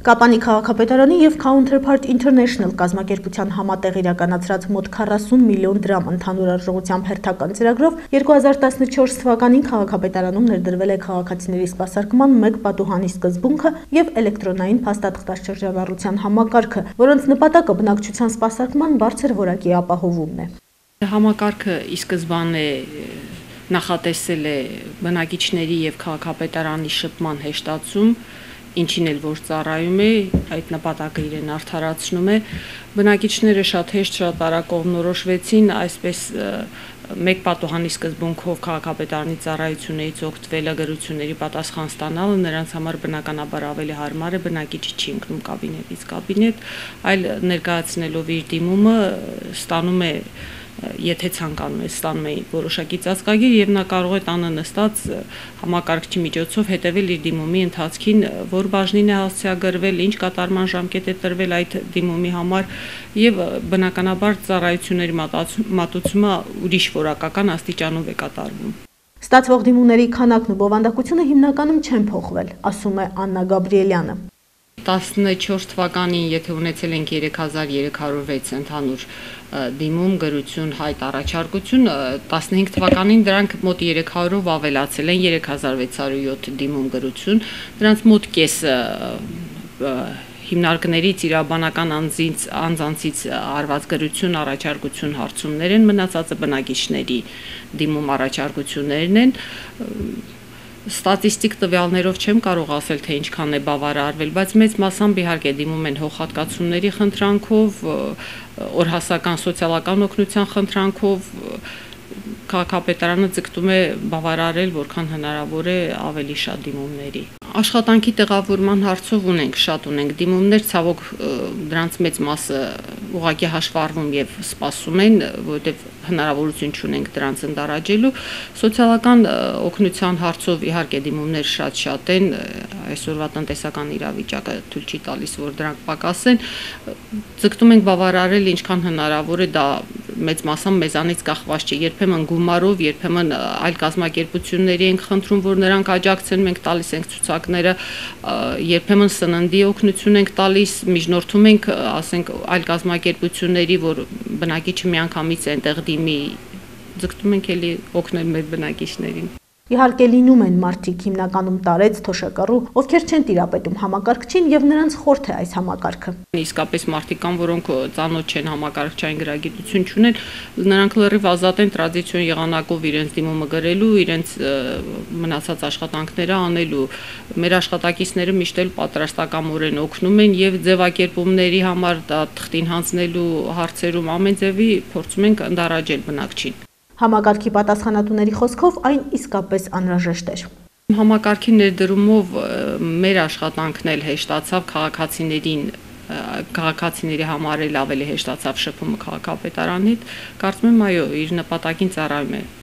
Կապանի քաղաքապետարանի և Counterpart International կազմակերպության համատեղ իրականացրած մոտ 40 միլիոն դրամ ընդհանուր արժողությամբ հերթական ծրագրով 2014 թվականին քաղաքապետարանում ներդրվել է քաղաքացիների սպասարկման 1 պատուհանի սկզբունքը և էլեկտրոնային փաստաթղթաշրջանառության համակարգը, որոնց նպատակը բնակչության սպասարկման բարձր որակի ապահովումն է։ Համակարգը ի սկզբանե նախատեսել է բնակիչների և քաղաքապետարանի շփման հեշտացում, ինչին էլ որ ծառայում է, այդ նպատակը իրեն արդարացնում է, բնակիչները շատ հեշտ, շատ արագ կողմնորոշվեցին, այսպես մեկ պատուհանի սկզբունքով քաղաքապետարանի ծառայություններից օգտվելը, գրությունների պատասխան ստանալը նրանց համար բնականաբար ավելի հարմար է, բնակիչը չի ընկնում կաբինետից կաբինետ, այլ ներկայացնելով իր դիմումը ստանում է, եթե ցանկանում է, ստանում է որոշակի ծածկագիր և նա կարող է տանը նստած համակարգչի միջոցով հետևել իր դիմումի ընթացքին, որ բաժնին է հասցեագրվել, ինչ կատարման ժամկետ է տրվել այդ դիմումի համար և բնականաբար ծառայությունների մատուցումը ուրիշ որակական աստիճանով է կատարվում։ Ստացվող դիմումների քանակն ու բովանդակությունը հիմնականում չեն փոխվել, ասում է Աննա Գաբրիելյանը։ 14 թվականին, եթե ունեցել ենք 3306 ընդհանուր դիմում, գրություն, հայտ, առաջարկություն, 15 թվականին դրանք մոտ 300-ով ավելացել են, 3607 դիմում, գրություն, դրանց մոտ կեսը հիմնարկներից իրավաբանական անձանցից արված գրություն, առաջարկություն, հարցումներ են, մնացածը բնակիչների դիմում առաջարկություններն են։ Ստատիստիկ տվյալներով չեմ կարող ասել, թե ինչքան է բավարարվել, բայց մեծ մասամբ իհարկե դիմում են հողհատկացումների խնդրանքով, օրհասական սոցիալական օգնության խնդրանքով, քաղաքապետարանը ձգտում է բավարարել որքան հնարավոր է ավելի շատ դիմումների։ Աշխատանքի տեղավորման հարցով շատ ունենք դիմումներ, ցավոք դրանց մեծ մասը ուղղակի հաշվառվում և սպասում են, որովհետև հնարավորություն չունենք դրանց ընդառաջելու։ Սոցիալական օգնության հարցով իհարկե դիմումներ շատ են, այսօրվա տնտեսական իրավիճակը թույլ չի տալիս, որ դրանք պակասեն։ Ձգտում ենք բավարարել ինչքան հնարավոր է, դա մեծ մասամբ մեզանից կախված չէ, երբեմն գումարով, երբեմն այլ կազմակերպությունների ենք խնդրում, որ նրանք աջակցեն, մենք տալիս ենք ցուցակները, երբեմն սննդի օգնություն ենք տալիս, միջնորդում ենք, ասենք, այլ կազմակերպությունների, որ բնակիչը միանգամից այնտեղ դիմի, ձգտում ենք էլի օգնել մեր բնակիչներին։ Իհարկե լինում են մարդիկ, հիմնականում տարեց, թոշակառու, ովքեր չեն տիրապետում համակարգչին և նրանց խորթ է այս համակարգը։ Իսկապես մարդիկ կան, որոնք ծանոթ չեն, համակարգչային գրագիտություն չունեն, նրանք լրիվ ազատ են տրադիցիոն եղանակով իրենց դիմումը գրելու, իրենց մնացած աշխատանքները անելու։ Մեր աշխատակիցները միշտ էլ պատրաստակամորեն օգնում են և ձևակերպումների համար, թղթին հանձնելու հարցերում ամեն ձևի փորձում ենք ընդառաջել բնակչին։ Համակարգի պատասխանատուների խոսքով այն իսկապես անհրաժեշտ էր։ Համակարգի ներդրումով մեր աշխատանքն էլ հեշտացավ, քաղաքացիների համար էլ ավելի հեշտացավ շփումը քաղաքապետարանի հետ, կարծում եմ այո, իր նպատակին ծառայում է։